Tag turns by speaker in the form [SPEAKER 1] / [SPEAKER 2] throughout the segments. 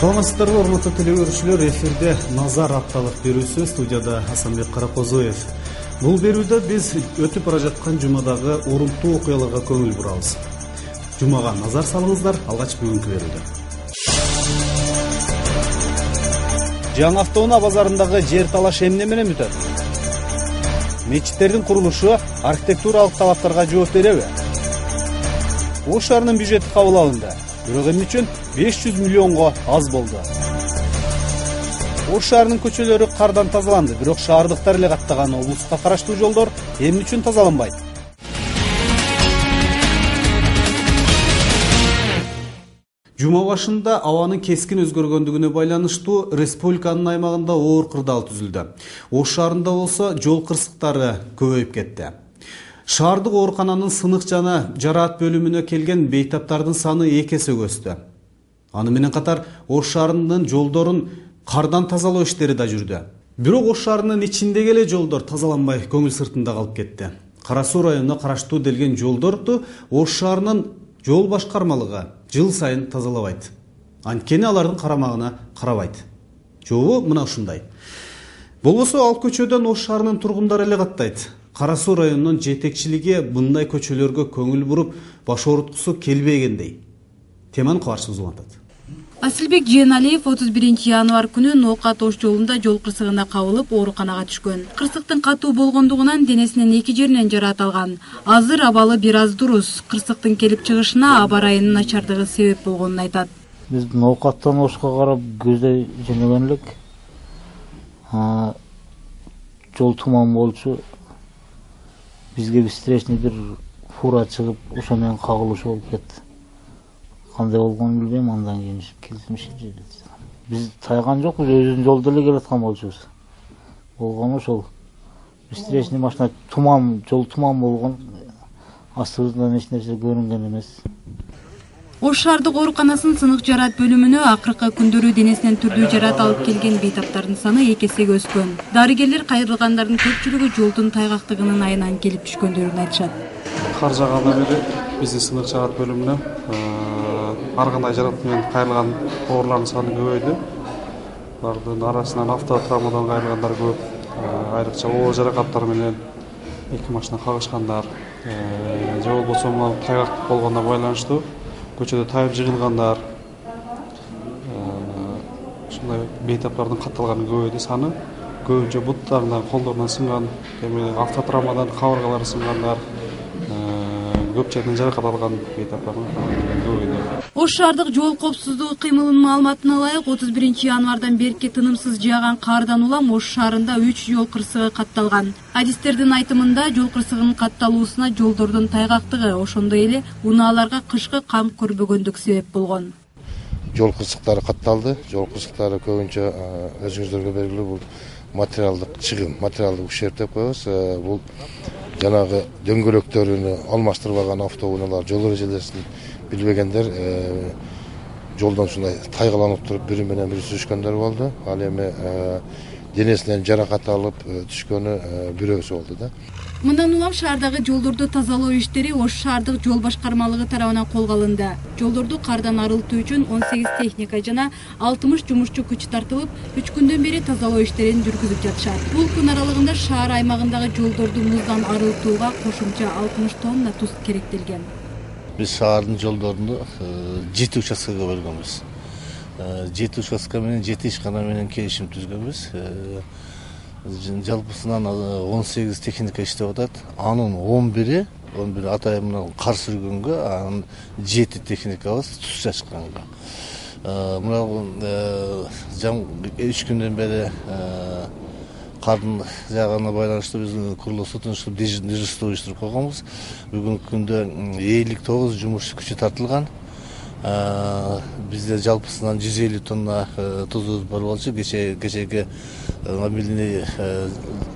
[SPEAKER 1] Саламатсыздарбы, урматтуу телегөрүүчүлөр, эфирде Назар апталык берүүсү, студияда Асанбек Каракозоев. Бул берүүдө биз өтүп бара жаткан жумадагы урунттуу окуяларга көңүл бурабыз. Жумага назар салыңыздар, алгач бүгүнкү берүүдө. Жаңы автоунаа базарындагы жер талаш эмне менен бүтөт? Мечиттердин курулушу архитектуралык талаптарга жооп береби? Ош шаарынын бюджети кабыл алынды. Бирок эмне үчүн 500 миллионго аз болду? Ош шаарынын көчөлөрү кардан тазаланды, бирок шаардыктар эле каттаган облуска караштуу жолдор эмне үчүн тазаланбайт? Жума башында абанын кескин өзгөргөндүгүнө байланыштуу республиканын аймагында оор кырдаал түзүлдү. Ош шаарында болсо жол кырсыктары көбөйүп кетти. Шаардык оорукананын сынык жана жараат бөлүмүнө келген бейтаптардын саны 2 эсе өстү. Аны менен катар Ош шаарынын жолдорун кардан тазалоо иштери да жүрдү. Бирок Ош шаарынын ичиндеги эле жолдор тазаланбай көңүл сыртында калып кетти. Кара Суу районуна караштуу делген жолдорду Ош шаарынын жол башкармалыгы жыл сайын тазалабайт. Анткени алардын карамагына карабайт. Жобу мына ушундай. Болбосо ал көчөдөн Ош шаарынын тургундары эле каттайт. Кара Суу районунун жетекчилиги мындай көчөлөргө көңүл буруп, баш ооруткусу келбегендей. Теманы кабарчыбыз улантат.
[SPEAKER 2] Асылбек Жээналиев 31 январь күнү Ноокат Ош жолунда жол кырсыгына кабылып, ооруканага түшкөн. Кырсыктын катуу болгондугунан денесинин 2 жеринен жараат алган. Азыр абалы бир аз дурус. Кырсыктын келип чыгышына аба ырайынын начардыгы себеп болгонун айтат.
[SPEAKER 3] Биз Ноокаттан Ошко карап көздөй жөнөгөн элек. Жол туман болчу. Бизге встречный бир фура чыгып, ошо менен кагылыш болуп кетти. Кандай болгонун билбейм, андан кийин келишим жиберди. Биз тайган жокпуз, өзүбүздүн жолдо эле келаткан болчубуз. Болгону ошол встречный машина жол туман болгон, астыбыздан эч нерсе көрүнгөн эмес.
[SPEAKER 2] Ош шаардык ооруканасынын сынык жараат бөлүмүнө акыркы күндөрү денесинен түрдүү жараат алып келген бейтаптардын саны 2 эсеге өскөн. Дарыгерлер кайрылгандардын көпчүлүгү жолдун тайгактыгынын айынан келип түшкөндөрүн айтышат.
[SPEAKER 4] Кар жаагандан бери биздин сынык жараат бөлүмүнө ар кандай жараат менен кайрылган оорлардын саны көбөйдү. Алардын арасынан автотравмадан кайрылгандар көп. Айрыкча оор жаракаттар менен 2 машина кагышкандар, же болбосо тайгак болгондо байланыштуу көчөдө тайып жыгылгандар, ушундай бейтаптардын катталганы көбөйдү саны. Көбүнчө буттарынан, колдорунан сынган, автотравмадан кабыргалары сынгандар, көп жерден жаракат алган бейтаптардын көбөйдү.
[SPEAKER 2] Ош шаардык жол коопсуздугу кыймылынын маалыматына ылайык 31 январдан берки тынымсыз жааган кардан улам Ош шаарында 3 жол кырсыгы катталган. Адистердин айтымында жол кырсыгынын катталуусуна жолдордун тайгактыгы, ошондой эле унааларга кышкы кам көрбөгөндүк себеп болгон.
[SPEAKER 5] Жол кырсыктары катталды. Жол кырсыктары көбүнчө өзүңүздөргө белгилүү бул материалдык чыгым, материалдык ущерб деп коебуз. Бул жанагы дөңгөлөктөрүн алмаштырбаган автоунаалар, жол эрежелерин билбегендер жолдон ушундай тайгаланып туруп бири менен бири сүзүшкөндөр болду. Ал эми денесинен жаракат алып түшкөнү бирөөсү болду да.
[SPEAKER 2] Мындан улам шаардагы жолдорду тазалоо иштери Ош шаардык жол башкармалыгы тарабынан колго алынды. Жолдорду кардан арылтуу үчүн 18 техника жана 60 жумушчу күч тартылып, 3 күндөн бери тазалоо иштерин жүргүзүп жатышат. Бул күн аралыгында шаар аймагындагы жолдорду муздан арылтууга кошумча 60 тонна туз керектелген.
[SPEAKER 6] Биз шаардын жолдорун 7 участкага бөлгөнбүз. 7 участка менен 7 ишкана менен келишим түзгөнбүз. Жалпысынан 18 техника иштеп атат. Анын 11 атайымынан кар сүргөнгө, анын 7 техникабыз туз чачканга. Мына 3 күндөн бери кардын жааганына байланыштуу биз курулуш сотунуштук дежурство уюштуруп койгонбуз. Бүгүнкү күндө 59 жумуш күчү тартылган. Бизде жалпысынан 150 тонна тузубуз бар болчу. Кечеги мобильный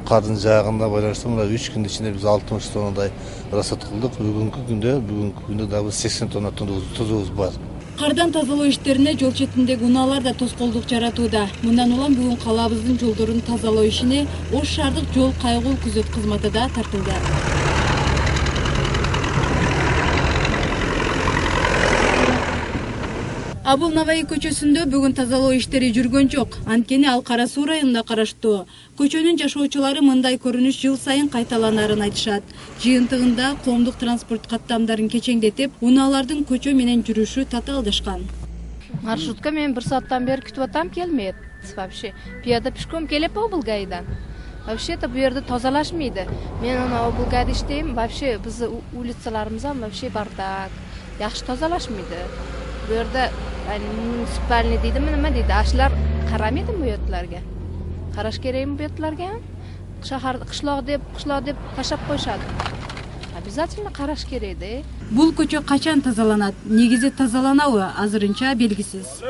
[SPEAKER 6] кардын жаагына байланыштуу мына 3 күндүн ичинде биз 60 тоннадай расход кылдык. Бүгүнкү күндө дагы 80 тонна тузубуз бар.
[SPEAKER 2] Кардан тазалоо иштерине жол четиндеги унаалар да тоскоолдук жаратууда. Мындан улам бүгүн калаабыздын жолдорун тазалоо ишине Ош шаардык жол кайгыл күзөт кызматы да тартылды. Абыл Наваи көчөсүндө бүгүн тазалоо иштери жүргөн жок. Анткени ал Кара Суу районунда караштуу. Көчөнүн жашоочулары мындай көрүнүш жыл сайын кайталанарын айтышат. Жыйынтыгында коомдук транспорт каттамдарын кечеңдетип, унаалардын көчө менен жүрүшү татаалдашкан.
[SPEAKER 7] Маршрутка мен 1 сааттан бери күтүп атам, келмейт. Вообще пияда пешком келип Облгайдан. Вообще-то бу жерде тазалашмайды. Мен ана Облгайда иштейм, вообще биз улицаларыбыз вообще бардак. Жакшы тазалашмайды. Бу жерде муниципальный дейди, нема дейди, ашлар карамайды бу yerlarga. Караш керекми бу yerlarga? Шахар кышлак деп ташап коюшат. Обязательно караш керек да.
[SPEAKER 2] Бул көчө качан тазаланат? Негизи тазаланабы? Азырынча белгисиз.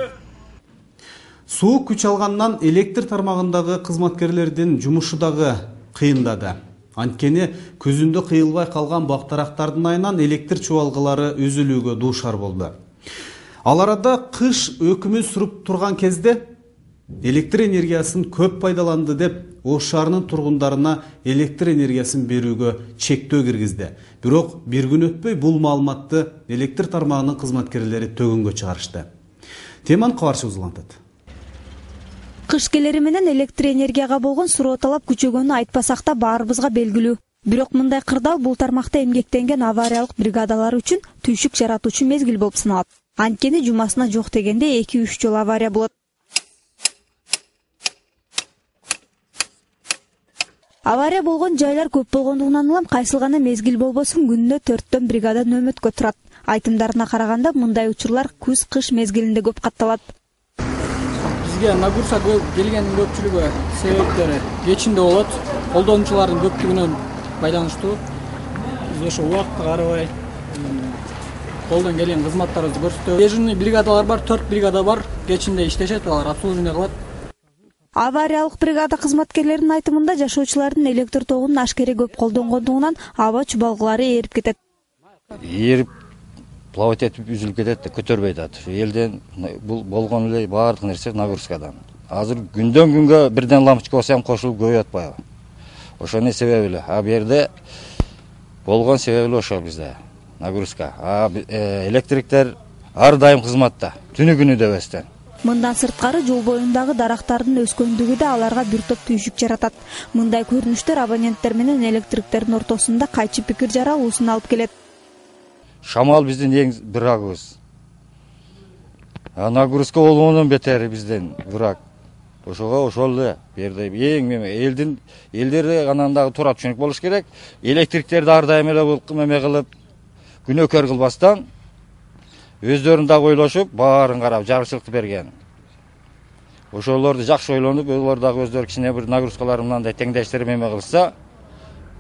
[SPEAKER 1] Суу күч алгандан электр тармагындагы кызматкерлердин жумушу дагы кыйындады. Анткени көзүндө кыйылбай калган бактарактардын айынан электр чубалгылары үзүлүүгө дуушар болду. Ал арада кыш өкүмү сүрүп турган кезде электр энергиясын көп пайдаланды деп Ош шаарынын тургундарына электр энергиясын берүүгө чектөө киргизди. Бирок бир күн өтпөй бул маалыматты электр тармагынын кызматкерлери төгөнгө чыгарышты. Теманы кабарчыбыз улантат.
[SPEAKER 8] Кыш келери менен электр энергияга болгон суроо талап күчөгөнү айтпасак да баарыбызга белгилүү. Бирок мындай кырдаал бул тармакта эмгектенген авариялык бригадалар үчүн түйшүк жаратуучу мезгил болуп саналат. Анткени жумасына жок дегенде 2-3 жолу авария болот. Авария болгон жайлар көп болгондугунан улам кайсыл гана мезгил болбосун күнүнө 4төн бригада нөөмөткө турат. Айтымдарына караганда мындай учурлар күз-кыш мезгилинде көп катталат.
[SPEAKER 9] Бизге нагрузка келгендин көпчүлүгү себептери кечинде болот. Колдонуучулардын көптүгүнөн байланыштуу. Биз ошо убакытка карабай колдон келген кызматтарыбызды көрсөтөбүз. Дежурный бригадалар бар, 4 бригада бар. Кечинде иштешет, алар обслуживание кылат.
[SPEAKER 8] Авариялык бригада кызматкерлеринин айтымында жашоочулардын электр тогунун ашкере көп колдонгондугунан аба чубалгылары ээрип кетет.
[SPEAKER 10] Ээрип плавать этип үзүлүп кетет, көтөрбөй атат. Элден бул болгон эле баардык нерсе нагрузкадан. Азыр күндөн күнгө бирден лампочка болсо ham кошулуп көбөйүп атпайбы? Ошонун себеби эле. Бу жерде болгон себеби эле ошол бизде. Нагрузка. Электриктер ар дайым кызматта, түнү күнү дебестен.
[SPEAKER 8] Мындан сырткары жол боюндагы дарактардын өскөндүгү да аларга бир топ түйшүк жаратат. Мындай көрүнүштөр абоненттер менен электриктердин ортосунда кайчы пикир жаралуусун алып келет.
[SPEAKER 10] Шамал биздин эң бирагыбыз. Нагрузка болгондон бетери бизден бирак. Ошого ошол эле берде эң элдерде анандагы туура түшүнүк болуш керек. Электриктерди ар дайым эле бул эме кылып күнөөкөр кылбастан өздөрүн дагы ойлошуп, баарын карап жагышчылыкты берген. Ошолорду жакшы ойлонуп, олар дагы өздөрү кичине бир нагрузкалары мындай теңдештирип эме кылса,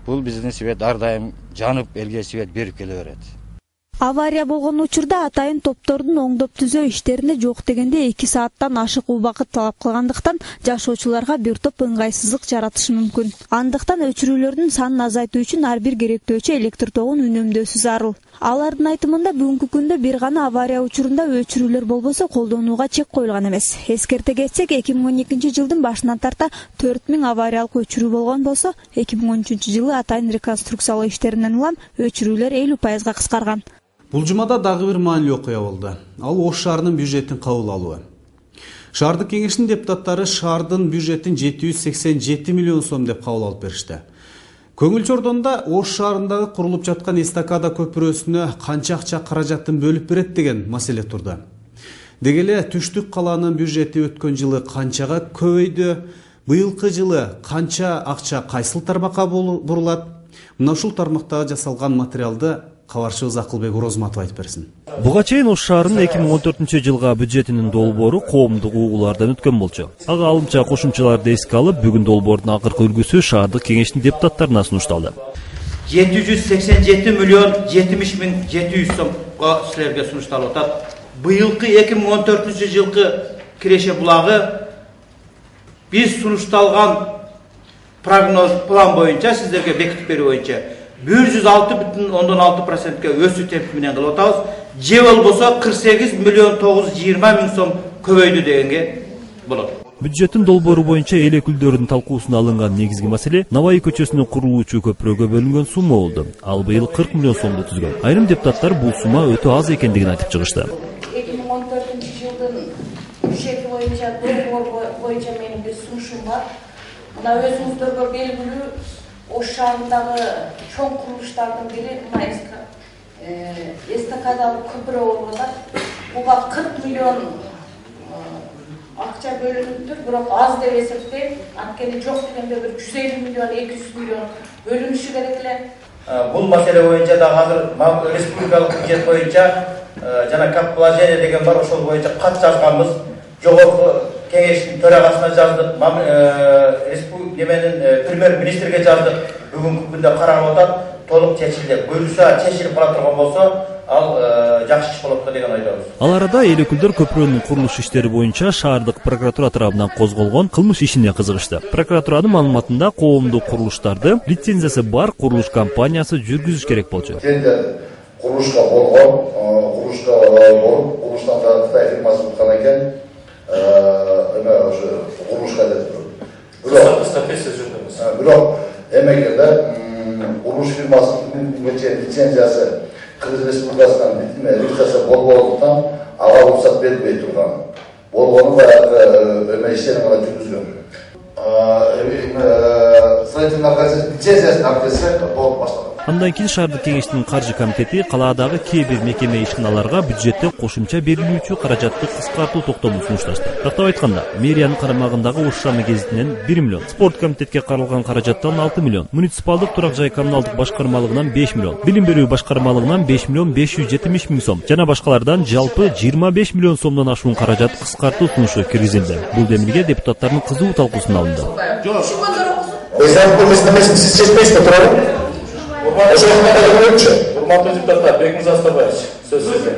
[SPEAKER 10] бул биздин свет ар дайым жанып элге свет берип келе берет.
[SPEAKER 8] Авария болгон учурда атайын топтордун оңдоп түзөө иштерине жок дегенде 2 сааттан ашык убакыт талап кылгандыктан жашоочуларга бир топ ыңгайсыздык жаратышы мүмкүн. Андыктан өчүрүүлөрдүн санын азайтуу үчүн ар бир керектөөчү электр тогун үнөмдөөсү зарыл. Алардын айтымында бүгүнкү күндө бир гана авария учурунда өчүрүүлөр болбосо колдонууга чек коюлган эмес. Эскерте кетсек, 2012-жылдын башынан тарта 4000 авариялык өчүрүү болгон болсо, 2013-жылы атайын реконструкциялоо иштеринен улам өчүрүүлөр 50% кыскарган.
[SPEAKER 1] Бул жумада дагы бир маанилүү окуя болду. Ал Ош шаарынын бюджетин кабыл алуу. Шаардык кеңештин депутаттары шаардын бюджетин 787 миллион сом деп кабыл алып беришти. Көңүл чордонда Ош шаарындагы курулуп жаткан эстакада көпүрөсүнө канча акча каражатын бөлүп берет деген маселе турду. Деги эле Түштүк калаанын бюджети өткөн жылы канчага көбөйдү, быйылкы жылы канча акча кайсыл тармакка бурулат? Мына ушул тармактагы жасалган материалды кабарчыбыз Акылбек Орозматов айтып берсин.
[SPEAKER 11] Буга чейин Ош шаарынын 2014-жылга бюджетинин долбоору коомдук угуулардан өткөн болчу. Ага алымча кошумчаларды эске алып, бүгүн долбоордун акыркы үлгүсү шаардык кеңештин депутаттарына сунушталды.
[SPEAKER 12] 787 миллион 70 миң 700 сомго силерге сунушталып атат. Быйылкы 2014-жылкы киреше булагы биз сунушталган прогноз план боюнча сиздерге бекитип берүү боюнча 106,6%га өсүү темпи менен кылып атабыз. Же болбосо 48 миллион 920 миң сом көбөйдү дегенге болот.
[SPEAKER 11] Бюджеттин долбоору боюнча эл өкүлдөрүнүн талкуусуна алынган негизги маселе Наваи көчөсүнүн курулуучу көпүрөгө бөлүнгөн сумма болду. Ал быйыл 40 миллион сомду түзгөн. Айрым депутаттар бул сумма өтө аз экендигин айтып чыгышты.
[SPEAKER 13] 2014-жылы сунушум бар. Мына өзүңүздөргө белгилүү Ош шаарындагы чоң курулуштардын бири мына эстакадалык көпүрө болуп атат. Буга 40 миллион акча бөлүнүптүр, бирок аз деп эсептейм. Анткени жок дегенде бир 150 миллион, 200 миллион бөлүнүшү керек эле.
[SPEAKER 12] Бул маселе боюнча да азыр республикалык бюджет боюнча жана кап положение деген бар, ошол боюнча кат жазганбыз. Жогорку кеңештин төрагасына жаздык, премьер-министрге жаздык. Бүгүнкү күндө каралып атат. Толук чечилди. Буюрса чечилип кала турган болсо, ал жакшы иш болот деген ойдобуз.
[SPEAKER 11] Ал арада эл өкүлдөр көпүрөнүн курулуш иштери боюнча шаардык прокуратура тарабынан козголгон кылмыш ишине кызыгышты. Прокуратуранын маалыматында коомдук курулуштарды лицензиясы бар курулуш компаниясы жүргүзүш керек болчу.
[SPEAKER 5] Курулушка болгон, болуп, курулуштан да Кытай фирмасы туткан экен. Ошо курулушка деп туруп. Бирок эмегенде курулуш фирмасынын лицензиясы Кыргыз Республикасынан лицензиясы болбогондуктан ага уруксат берилбей турган. Болгону баягы иштерин гана жүргүзгөн. Строительный лицензиясын алып келсе болуп баштаган.
[SPEAKER 11] Андан кийин шаардык кеңештин каржы комитети калаадагы кээ бир мекеме ишканаларга бюджеттен кошумча берилүүчү каражатты кыскартуу токтомун сунушташты. Тактап айтканда, мэриянын карамагындагы Ош шаамы гезитинен 1 миллион, спорт комитетке каралган каражаттан 6 миллион, муниципалдык турак жай коммуналдык башкармалыгынан 5 миллион, билим берүү башкармалыгынан 5 миллион 570 миң сом жана башкалардан жалпы 25 миллион сомдон ашуун каражат кыскартуу сунушу киргизилди. Бул демилге депутаттардын кызуу талкуусуна алынды.
[SPEAKER 14] Урматтуу депутаттар, Бекмырза Астабаевич, сөз сизде.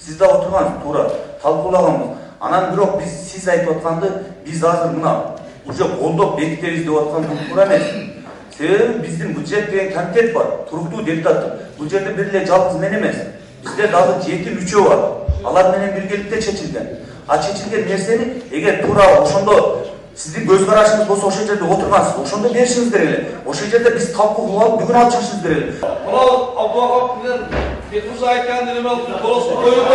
[SPEAKER 12] Сиз да отургансыз, туура талкуулаганбыз. Анан бирок сиз айтып атканды биз азыр мына уже колдоп бекитебиз деп аткан бул туура эмес. Себеби биздин бюджет деген комитет бар, туруктуу депутаттар. Бул жерде бир эле жалгыз мен эмес. Бизде дагы 7-3 бар. Алар менен биргеликте чечилген. А чечилген нерсени эгер туура ошондо сиздин көз карашыңыз болсо ошол жерде отургансыз, ошондо беришиңиз керек эле. Ошол жерде биз талкуу кылып алып бүгүн алып чыгышыбыз керек эле.
[SPEAKER 14] Мына Абдуллахов менен Бекмырза айтканды эме алып болосу коюп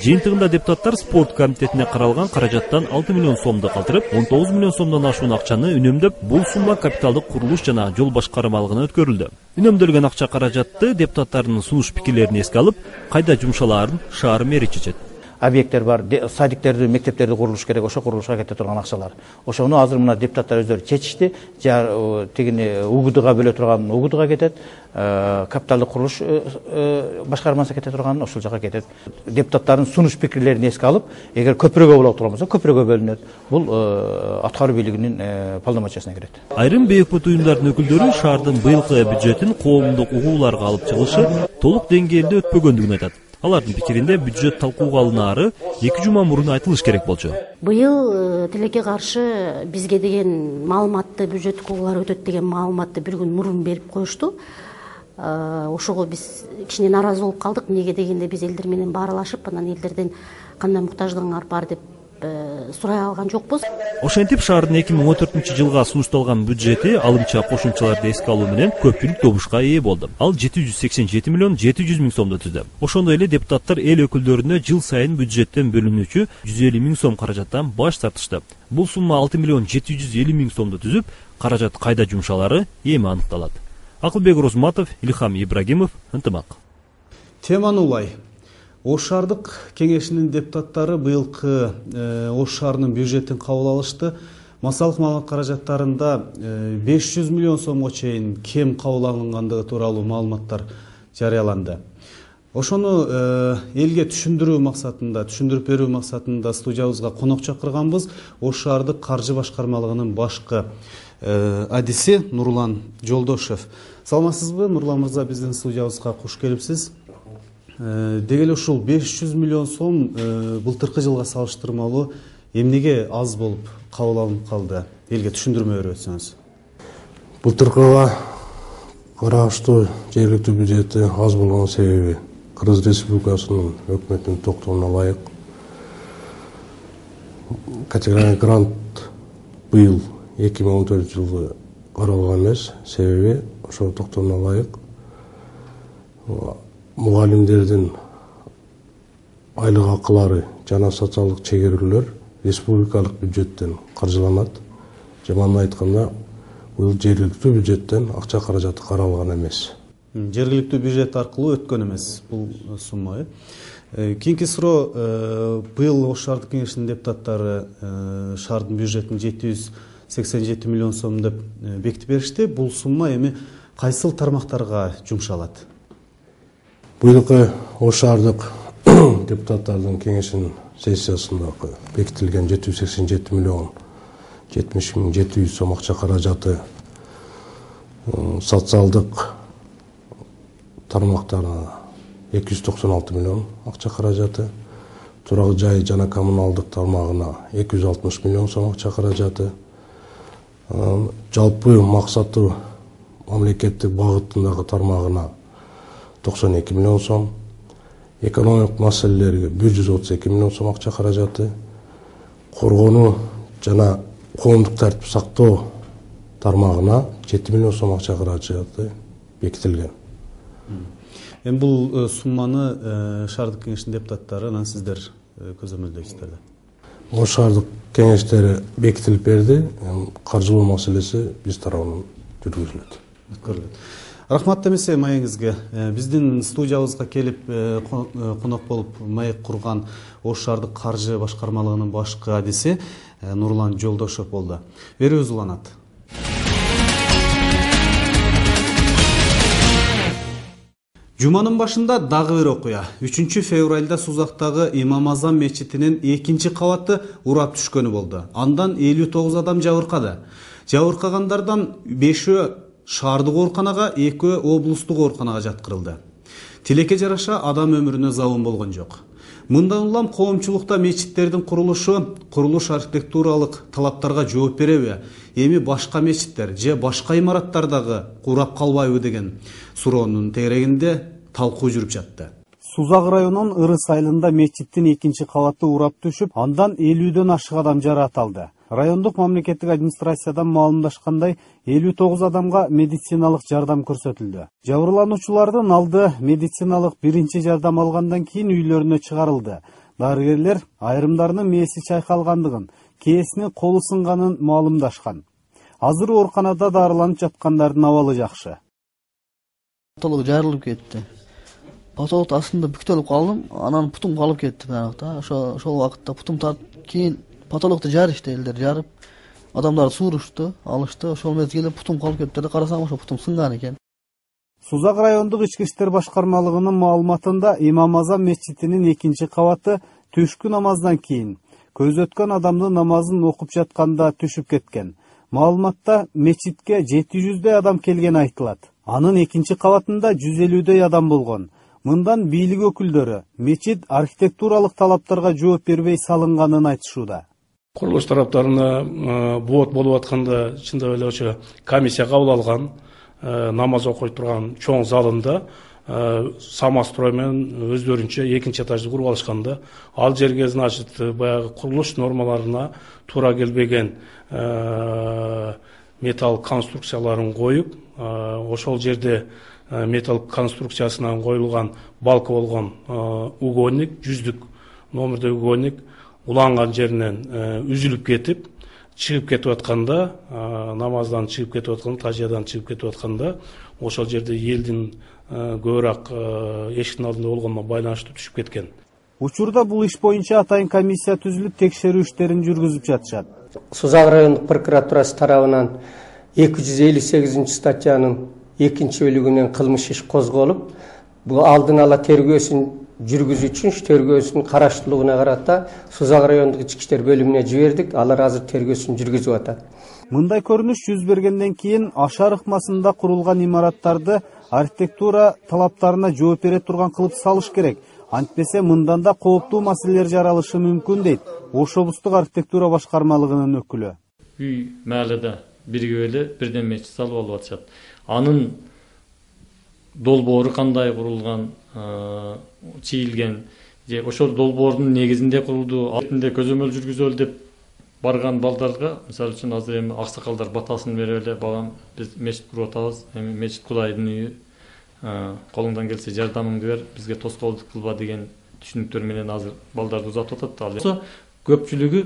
[SPEAKER 11] Жыйынтыгында депутаттар спорт комитетине каралган каражаттан 6 миллион сомду калтырып, 19 миллион сомдон ашуун акчаны үнөмдөп, бул сумма капиталдык курулуш жана жол башкармалыгына өткөрүлдү. Үнөмдөлгөн акча каражатты депутаттардын сунуш пикирлерин эске алып, кайда жумшалаарын шаар мэри чечет.
[SPEAKER 12] Объекттер бар, садиктерди, мектептерди курулуш керек, ошо курулушка кете турган акчалар. Ошону азыр мына депутаттар өздөрү чечишти. Тигини УГДга бөлө турган УГДга кетет, капиталдык курулуш башкармасына кете турган ошол жака кетет. Депутаттардын сунуш пикирлерин эске алып, эгер көпүрөгө болот турган болсо, көпүрөгө бөлүнөт. Бул аткаруу бийлигинин полномочиясына кирет.
[SPEAKER 11] Айрым бейөкмөт уюмдардын өкүлдөрү шаардын быйылкы бюджетин коомдук угууларга алып чыгышы толук деңгээлде өтпөгөндүгүн айтат. Алардын пикиринде бюджет талкууга алынаары 2 жума мурун айтылыш керек болчу.
[SPEAKER 15] Быйыл тилекке каршы бизге деген маалыматты, бюджеттик угуулар өтөт деген маалыматты бир күн мурун берип коюшту. Ошого биз кичине нааразы болуп калдык. Эмнеге дегенде биз элдер менен баарлашып, анан элдерден кандай муктаждыгыңар бар деп сурай алган жокпуз.
[SPEAKER 11] Ошентип шаардын 2014-жылга сунушталган бюджети алымча кошумчаларды эске алуу менен көпчүлүк добушка ээ болду. Ал 787 миллион 700 миң сомду түздү. Ошондой эле депутаттар эл өкүлдөрүнө жыл сайын бюджеттен бөлүнүүчү 150 миң сом каражаттан баш тартышты. Бул сумма 6 миллион 750 миң сомду түзүп, каражат кайда жумшалары эми аныкталат. Акылбек Розматов, Илхам Ибрагимов, Ынтымак.
[SPEAKER 1] Теманы улай. Ош шаардык кеңешинин депутаттары быйылкы Ош шаарынын бюджетин кабыл алышты. Массалык маалымат каражаттарында 500 миллион сомго чейин кем кабыл алынгандыгы тууралуу маалыматтар жарыяланды. Ошону элге түшүндүрүү максатында, түшүндүрүп берүү максатында студиябызга конок чакырганбыз. Ош шаардык каржы башкармалыгынын башкы адиси Нурлан Жолдошев. Саламатсызбы, Нурлан мырза, биздин студиябызга куш келипсиз. Деги эле ушул 500 миллион сом былтыркы жылга салыштырмалуу эмнеге аз болуп кабыл алынып калды? Элге түшүндүрмө берип өтсөңүз.
[SPEAKER 16] Былтыркыга караштуу жергиликтүү бюджети аз болгон себеби Кыргыз Республикасынын өкмөтүнүн токтомуна ылайык категориялык грант быйыл 2014 жылы каралган эмес. Себеби ошого токтооруна ылайык. Мугалимдердин айлык акылары жана социалдык чегерүүлөр республикалык бюджеттен каржыланат. Жаманын айтканда, бул жергиликтүү бюджеттен акча каражаты каралган эмес.
[SPEAKER 1] Жергиликтүү бюджет аркылуу өткөн эмес бул сумма. Кийинки суроо, быйыл Ош шаардык кеңешинин депутаттары шаардын бюджетин 787 миллион сом деп бекитип беришти. Бул сумма эми кайсыл тармактарга жумшалат?
[SPEAKER 16] Быйылкы Ош шаардык депутаттардын кеңешинин сессиясында бекитилген 787 миллион 70.700 сом акча каражаты социалдык тармактарына 296 миллион акча каражаты, турак жай жана коммуналдык тармагына 260 миллион сом акча каражаты, жалпы максаты мамлекеттик багытындагы тармагына 92 миллион сом, экономик маселелерге 132 миллион сом акча каражаты, коргонуу жана коомдук тартип сактоо тармагына 7 миллион сом акча каражаты бекитилген.
[SPEAKER 1] Эми бул сумманы шаардык кеңештин депутаттары анан сиздер көзөмөлдөйсүздөр да.
[SPEAKER 16] Ош шаардык кеңештери бекитилип берди. Каржылоо маселеси биз тарабынан жүргүзүлөт.
[SPEAKER 1] Рахмат демесе маегиңизге. Биздин студиябызга келип конок болуп маек курган Ош шаардык каржы башкармалыгынын башкы адиси Нурлан Жолдошов болду. Берүүбүз уланат. Жуманын башында дагы бир окуя. 3 февралда Сузактагы Имам Азам мечитинин 2 кабаты урап түшкөнү болду. Андан 59 адам жабыркады. Жабыркагандардан 5-өө шаардык ооруканага, 2-өө облустук ооруканага жаткырылды. Тилекке жараша адам өмүрүнө забын болгон жок. Мындан улам коомчулукта мечиттердин курулуш архитектуралык талаптарга жооп береби? Эми башка мечиттер же башка имараттардагы урап калбайбы деген суроонун тегерегинде талкуу жүрүп жатты. Сузак районунун Ырыс айылында мечиттин 2 кабаты урап түшүп, андан 50дөн ашык адам жаракат алды. Райондук мамлекеттик администрациядан маалымдашкандай 59 адамга медициналык жардам көрсөтүлдү. Жабырлануучулардын алды медициналык биринчи жардам алгандан кийин үйлөрүнө чыгарылды. Дарыгерлер айрымдарынын мээси чайкалгандыгын, кээсинин колу сынганын маалымдашкан. Азыр ооруканада дарыланып жаткандардын абалы жакшы.
[SPEAKER 17] Потолок жарылып кетти. Потолок астында бүктөлүп калдым, анан путум калып кетти баягыда. Ошол убакытта путум тартып, кийин потолокто жарышты, элдер жарып, адамдарды suurушту, алышты. Ошол мезгилде путум калып кетти да, карасам ошо путум сынган экен.
[SPEAKER 1] Сузак райондук ички иштер башкармалыгынын маалыматында Имам Азам мечитинин 2 кабаты түшкү намаздан кийин көз өткөн адамдын намазын окуп жатканда түшүп кеткен. Маалыматта мечитке 700дөй адам келгени айтылат. Анын 2 кабатында 150дөй адам болгон. Мындан бийлик өкүлдөрү мечит архитектуралык талаптарга жооп бербей салынганын айтышууда.
[SPEAKER 18] Курулуш тараптарына буот болуп атканда чындап эле ошо комиссия кабыл алган, намаз окуй турган чоң залында самострой менен өздөрүнчө 2 этажды куруп алышканда, ал жерге значит баягы курулуш нормаларына туура келбеген металл конструкцияларын коюп, ошол жерде металл конструкциясынан коюлган балка болгон угольник, 100 номердеги угольник уланган жеринен үзүлүп кетип, чыгып кетип атканда, намаздан чыгып кетип атканда, тажиядан чыгып кетип атканда, ошол жерде элдин көбүрөөк эшиктин алдында болгонуна байланыштуу түшүп кеткен.
[SPEAKER 1] Учурда бул иш боюнча атайын комиссия түзүлүп, текшерүү иштерин жүргүзүп жатышат.
[SPEAKER 19] Сузак райондук прокуратурасы тарабынан 258 статьянын 2-бөлүгүнөн кылмыш иш козголуп, бул алдын ала тергөөсүн жүргүзүү үчүн тергөөсүнүн караштуулугуна карата Сузак райондук ички иштер бөлүмүнө жибердик. Алар азыр тергөөсүн жүргүзүп атат.
[SPEAKER 1] Мындай көрүнүш жүз бергенден кийин Ашар ыкмасында курулган имараттарды архитектура талаптарына жооп бере турган кылып салыш керек. Антпесе мындан да кооптуу маселелер жаралышы мүмкүн дейт Ош облустук архитектура башкармалыгынын өкүлү.
[SPEAKER 20] Үй маалыда бирге эле бирден мечит салып алып атышат. Анын долбоору кандай курулган, чийилген же ошол долбоордун негизинде курулду, алтында көзөмөл жүргүзөлү деп барган балдарга, мисалы үчүн азыр эми аксакалдар батасын берип эле балам биз мечит куруп атабыз, эми мечит Кудайдын үйү, колуңдан келсе жардамыңды бер, бизге тоскоолдук кылба деген түшүнүктөр менен азыр балдарды узатып атат. Ал көпчүлүгү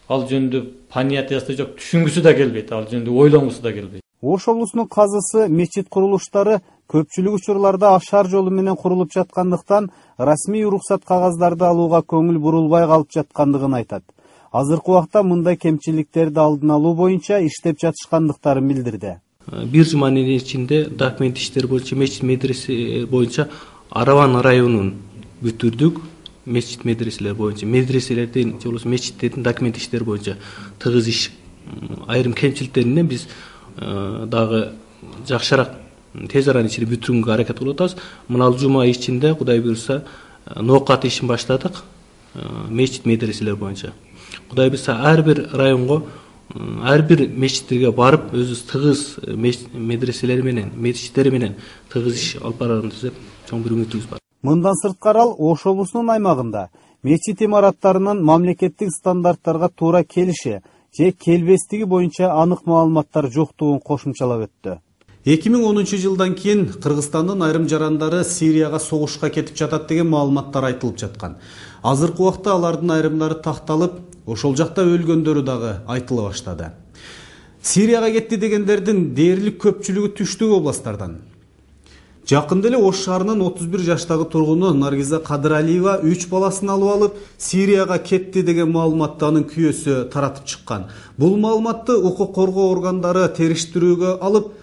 [SPEAKER 20] ал жөнүндө понятиясы да жок, түшүнгүсү да келбейт, ал жөнүндө ойлонгусу да келбейт.
[SPEAKER 1] Ош облусунун казысы мечит курулуштары көпчүлүк учурларда ашар жолу менен курулуп жаткандыктан расмий уруксат кагаздарды алууга көңүл бурулбай калып жаткандыгын айтат. Азыркы убакта мындай кемчиликтерди алдын алуу боюнча иштеп жатышкандыктарын билдирди.
[SPEAKER 21] Бир жуманын ичинде документ иштери боюнча мечит медресе боюнча Араван районун бүтүрдүк. Мечит медреселер боюнча медреселердин же болбосо мечиттердин документ иштери боюнча тыгыз иш, айрым кемчиликтеринен биз дагы жакшыраак тез аранын ичинде бүтүрүүгө аракет кылып атабыз. Мына жума ичинде Кудай буюрса ноокат ишин баштадык мечит медреселер боюнча. Кудай буюрса ар бир районго, ар бир мечиттерге барып, өзүбүз тыгыз медреселери менен, мечиттери менен тыгыз иш алып барабыз деп чоң бир үмүтүбүз бар.
[SPEAKER 1] Мындан сырткары ал Ош облусунун аймагында мечит имараттарынын мамлекеттик стандарттарга туура келиши же келбестиги боюнча анык маалыматтар жоктугун кошумчалап өттү. 2010 жылдан кийин Кыргызстандын айрым жарандары Сирияга согушка кетип жатат деген маалыматтар айтылып жаткан. Азыркы убакта алардын айрымдары такталып, ошол жакта өлгөндөрү дагы айтыла баштады. Сирияга кетти дегендердин дээрлик көпчүлүгү түштүк областтардан. Жакында эле Ош шаарынын 31 жаштагы тургуну Наргиза Кадыралиева 3 баласын алып алып, Сирияга кетти деген маалыматты анын күйөөсү таратып чыккан. Бул маалыматты укук коргоо органдары териштирүүгө алып,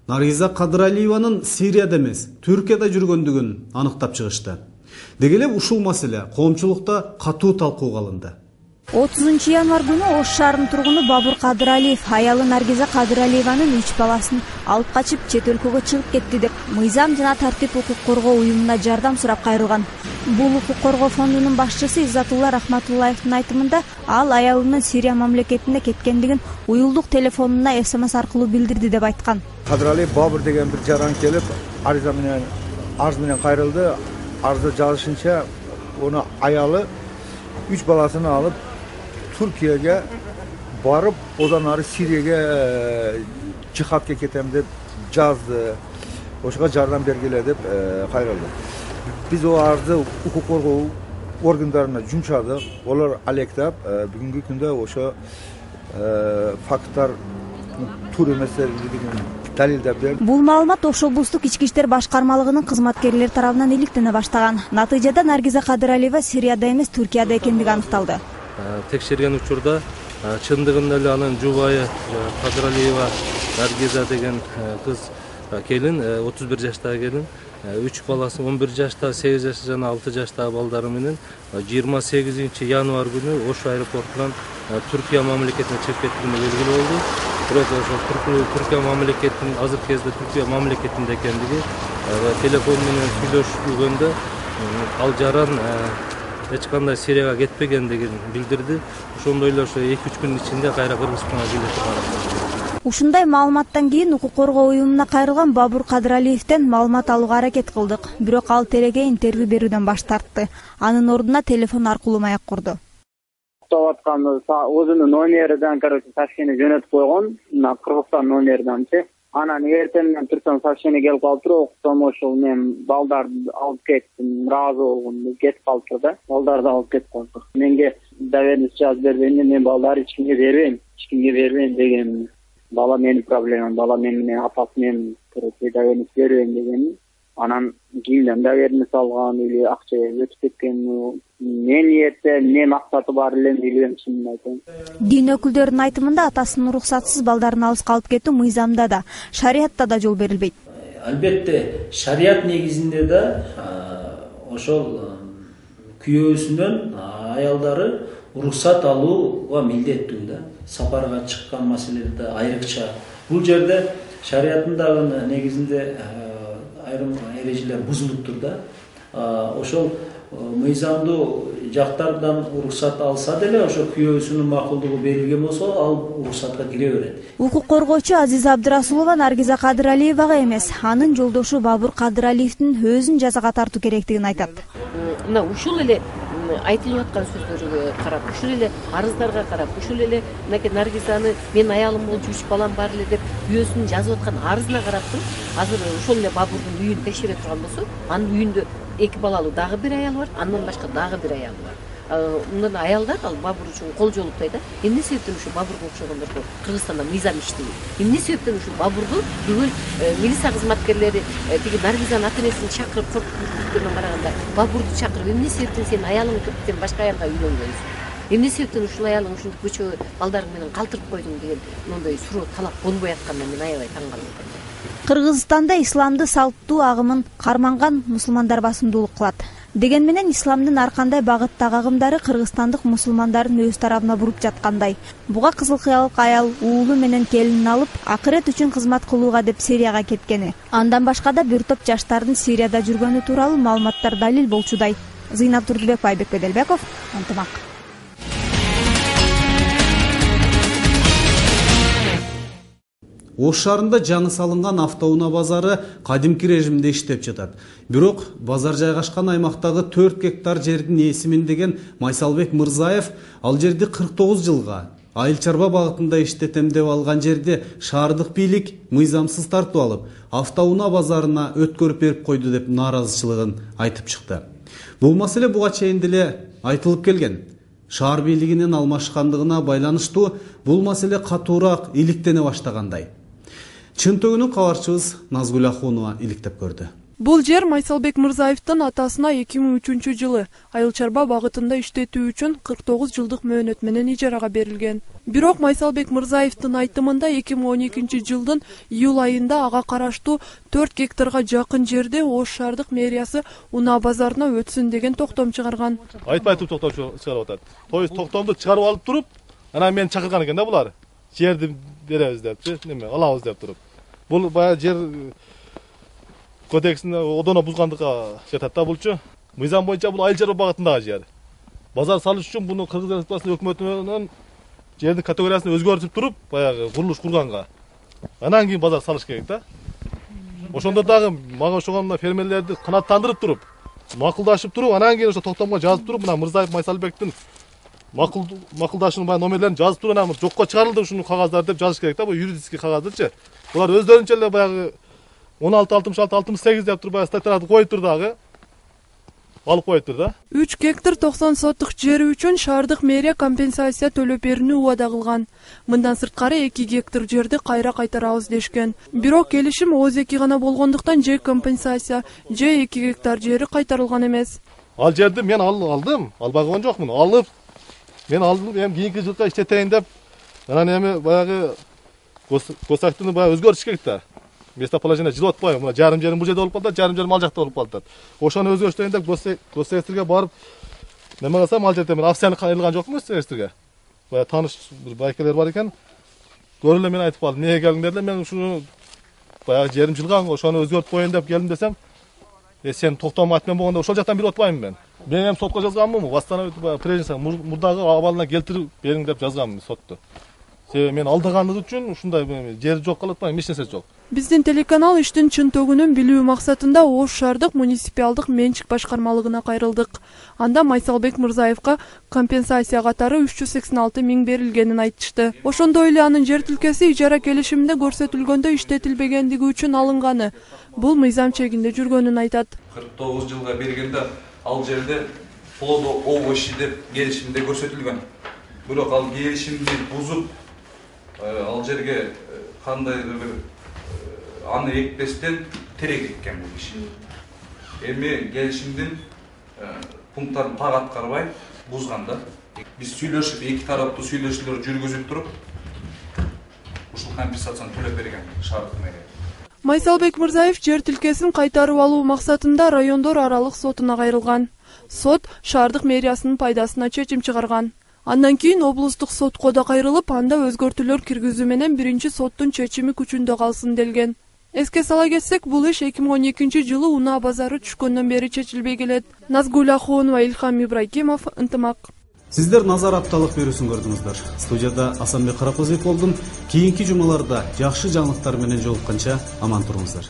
[SPEAKER 1] Наргиза Кадыралиеванын Сирияда эмес, Түркияда жүргөндүгүн аныктап чыгышты. Деги эле ушул маселе коомчулукта катуу талкууга алынды.
[SPEAKER 8] 30 январь күнү Ош шаарынын тургуну Бабур Кадыралиев аялы Наргиза Кадыралиеванын 3 баласын алып качып чет өлкөгө чыгып кетти деп Мыйзам жана тартип укук коргоо уюмуна жардам сурап кайрылган. Бул укук коргоо фондунун башчысы Иззатулла Рахматуллаевдин айтымында ал аялынын Сирия мамлекетине кеткендигин уюлдук телефонуна СМС аркылуу билдирди деп айткан.
[SPEAKER 22] Кадыралиев Бабур деген бир жаран келип, арыза менен кайрылды. Арызда жазышынча, оны аялы 3 баласын алып Түркияга барып, одан ары Сирияга жихадка кетем деп жазды. Ошого жардам бергиле деп кайрылды. Биз о арызды укук коргоо органдарына жумшадык. Олар алектап, бүгүнкү күндө ошо факттар туура эместигин далилдеп берди.
[SPEAKER 8] Бул маалымат Ош облустук ички иштер башкармалыгынын кызматкерлери тарабынан иликтене баштаган. Натыйжада Наргиза Кадыралиева Сирияда эмес, Түркияда экендиги аныкталды.
[SPEAKER 21] Текшерген учурда чындыгында эле анын жубайы Кадыралиева Наргиза деген кыз келин, 31 жаштагы келин, 3 баласы 11 жашта, 8 жашта жана 6 жаштагы балдары менен 28 январь күнү Ош аэропортунан Түркия мамлекетине чыгып кеткени белгилүү болду. Бирок ошол Түркия мамлекетинин азыркы кезде Түркия мамлекетинде экендиги телефон менен сүйлөшүлгөндө ал жаран эч кандай Сирияга кетпегендигин билдирди. Ошондой эле ошо 2-3 күн ичинде кайра Кыргызстанга билетип барат.
[SPEAKER 8] Ушундай маалыматтан кийин укук коргоо уюмуна кайрылган Бабур Кадыралиевден маалымат алууга аракет кылдык. Бирок ал тереге интервью берүүдөн баш тартты. Анын ордуна телефон аркылуу маек курду.
[SPEAKER 23] Өзүнүн номеринен сообщение жөнөтүп койгон, Кыргызстан номериненчи. Анан эртеңден Түркиядан сообщение келип калыптыр, окутсом ошол мен балдарды алып кеттим, ыраазы болгом, кетип калыптыр да. Балдарды алып кетип калыптыр. Менге доверенность жазып бергенде мен балдарды эч кимге бербейм деген. Бала менин проблемам, бала менин апасы менин доверенность бербейм деген. Анан кимден доверенность алган или акча өтүп кеткен, не ниетте, не максаты бар эле билбейм, чынын айтайын.
[SPEAKER 8] Дин өкүлдөрүнүн айтымында атасынын уруксатсыз балдарын алыска алып кетүү мыйзамда да, шариятта да жол берилбейт.
[SPEAKER 24] Албетте, шарият негизинде да ошол күйөөсүнөн аялдары уруксат алууга милдеттүү да. Сапарга чыккан маселеде айрыкча. Бул жерде шариаттын дагы негизинде айрым эрежелер бузулуптур да. Ошол мыйзамдуу жактардан уруксат алса деле ошо күйөөсүнүн макулдугу берилген болсо ал уруксатка кире берет.
[SPEAKER 8] Укук коргоочу Азиза Абдырасулова Наргиза Кадыралиевага эмес, анын жолдошу Бабур Кадыралиевдин өзүн жазага тартуу керектигин айтат.
[SPEAKER 25] Мына ушул эле
[SPEAKER 3] айтылып аткан сөздөргө карап, ушул эле арыздарга карап, ушул эле мынакей Наргизаны мен аялым болчу 3 балам бар эле деп күйөөсүнүн жазып аткан арызына караптыр. Азыр ошол эле Бабурдун үйүн текшере турган болсо, анын үйүндө 2 балалуу дагы бир аялы бар, андан башка дагы бир аялы бар. Мындан аялдар ал Бабур үчүн кол жолуктай да. Эмне себептен ушул Бабурга окшогондорго Кыргызстанда мыйзам иштебейт? Эмне себептен ушул Бабурду бүгүн милиция кызматкерлери тиги Наргизанын ата-энесин чакырып коркуткандан караганда Бабурду чакырып эмне себептен сен аялың сен башка аялга үйлөнгөнсүң? Эмне себептен ушул аялың ушинтип көчө балдарың менен калтырып койдуң деген мындай суроо талап болбой атканына мен аябай таң калып атам.
[SPEAKER 8] Кыргызстанда исламды салттуу агымын карманган мусулмандар басымдуулук кылат. Деген менен исламдын ар кандай багыттагы агымдары кыргызстандык мусулмандарын өз тарабына буруп жаткандай. Буга кызыл кыялык аял уулу менен келинин алып, акырет үчүн кызмат кылууга деп Сирияга кеткени. Андан башка да бир топ жаштардын Сирияда жүргөнү тууралуу маалыматтар далил болчудай. Зыйнап Турдубек, Айбек Беделбеков, Ынтымак.
[SPEAKER 1] Ош шаарында жаңы салынган автоунаа базары кадимки режимде иштеп жатат. Бирок базар жайгашкан аймактагы 4 гектар жердин ээсимин деген Майсалбек Мырзаев ал жерди 49 жылга айыл чарба багытында иштетем деп алган жерди шаардык бийлик мыйзамсыз тартып алып, автоунаа базарына өткөрүп берип койду деп нааразычылыгын айтып чыкты. Бул маселе буга чейин деле айтылып келген. Шаар бийлигинин алмашкандыгына байланыштуу бул маселе катуураак иликтене баштагандай. Чынтөгүнүн кабарчыбыз Назгүл Ахунова иликтеп көрдү.
[SPEAKER 4] Бул жер Майсалбек Мырзаевдин атасына 2003 жылы айыл чарба багытында иштетүү үчүн 49 жылдык мөөнөт менен ижарага берилген. Бирок Майсалбек Мырзаевдин айтымында 2012 жылдын июль айында ага караштуу 4 гектарга жакын жерде Ош шаардык мэриясы унаа базарына өтсүн деген токтом чыгарган.
[SPEAKER 6] Айтпайтып токтом чыгарып атат. Токтомду чыгарып алып туруп, анан мени чакырган экен да булар. Жерди беребиз депчи, неме алабыз деп туруп. Бул баягы жер кодексин одоно бузгандыкка жатат да булчу. Мыйзам боюнча бул айыл чарба багытындагы жер. Базар салыш үчүн буну Кыргыз Республикасынын өкмөтүнөн жердин категориясын өзгөртүп туруп, баягы курулуш курганга. Анан кийин базар салыш керек да. Ошондо дагы мага ошогон фермерлерди канааттандырып туруп, макулдашып туруп, анан кийин ошо токтомго жазып туруп, мына Мырзаев Майсалбектин макулдашуунун баягы номерлерин жазып туруп, анан жокко чыгарылды ушунун кагаздары деп жазыш керек да, бул юридический кагаздырчы. Булар өздөрүнчө эле баягы 1666-68 деп туруп баягы статьяларды коюп тур дагы. Алып коюп тур да.
[SPEAKER 4] 3 гектар 90 соттук жери үчүн шаардык мэрия компенсация төлөп берүүнү убада кылган. Мындан сырткары 2 гектар жерди кайра кайтарабыз дешкен. Бирок келишим ооз-эки гана болгондуктан же компенсация, же 2 гектар жери кайтарылган эмес.
[SPEAKER 6] Ал жерди мен алдым, албай койгон жокмун. Алып мен алдым, эми кийинки жылга иштетейин деп. Анан эми баягы госактыны баягы өзгөртүш керек да. Местоположение жылып атпайбы? Мына жарым жерим бул жерде болуп калат, жарым жерим ал жакта болуп калат. Ошону өзгөртөйүн деп госсекторго барып, неме кылсам ал жерде мен акцияны кайрылган жокмун госсекторго. Баягы тааныш бир байкелер бар экен. Көрүп эле мен айтып калдым, эмнеге келдиңдер деле, мен ушуну баягы жерим жылган, ошону өзгөртүп коеюн деп келдим десем, сен токтом айтмен болгондо ошол жактан бирip атпаймынбы мен? Мен эми сотко жазганмынбы? Восстановить прежде мурдагы абалына келтирип бериң деп жазганмын сотто. Себеби мен алдагандык үчүн ушундай жер жок кылып атпайм, эч нерсе жок.
[SPEAKER 4] Биздин телеканал иштин чынтөгүнүн билүү максатында Ош шаардык муниципалдык менчик башкармалыгына кайрылдык. Анда Майсалбек Мырзаевка компенсация катары 386 миң берилгенин айтышты. Ошондой эле анын жер тилкеси ижара келишиминде көрсөтүлгөндө иштетилбегендиги үчүн алынганы. Бул мыйзам чегинде жүргөнүн айтат.
[SPEAKER 7] 49 жылга бергенде ал жерде плодо овощи деп келишимде көрсөтүлгөн. Бирок ал келишимди бузуп ал жерге кандайдыр бир аны экпестен терек эккен бул киши. Эми келишимдин пункттарын так аткарбай бузган да. Биз сүйлөшүп, эки тараптуу сүйлөшүүлөр жүргүзүп туруп ушул компенсацияны төлөп берген шаардык мэрия.
[SPEAKER 4] Майсалбек Мырзаев жер тилкесин кайтарып алуу максатында райондор аралык сотуна кайрылган. Сот шаардык мэриясынын пайдасына чечим чыгарган. Андан кийин облустук сотко да кайрылып, анда өзгөртүүлөр киргизүү менен биринчи соттун чечими күчүндө калсын делген. Эске сала кетсек, бул иш 2012 жылы унаа базары түшкөндөн бери чечилбей келет. Назгүл Ахунова, Илхам Ибрагимов, Ынтымак.
[SPEAKER 1] Сиздер назар апталык берүүсүн көрдүңүздөр. Студияда Асанбек Каракөзүев болдум. Кийинки жумаларда жакшы жаңылыктар менен жолукканча аман туруңуздар.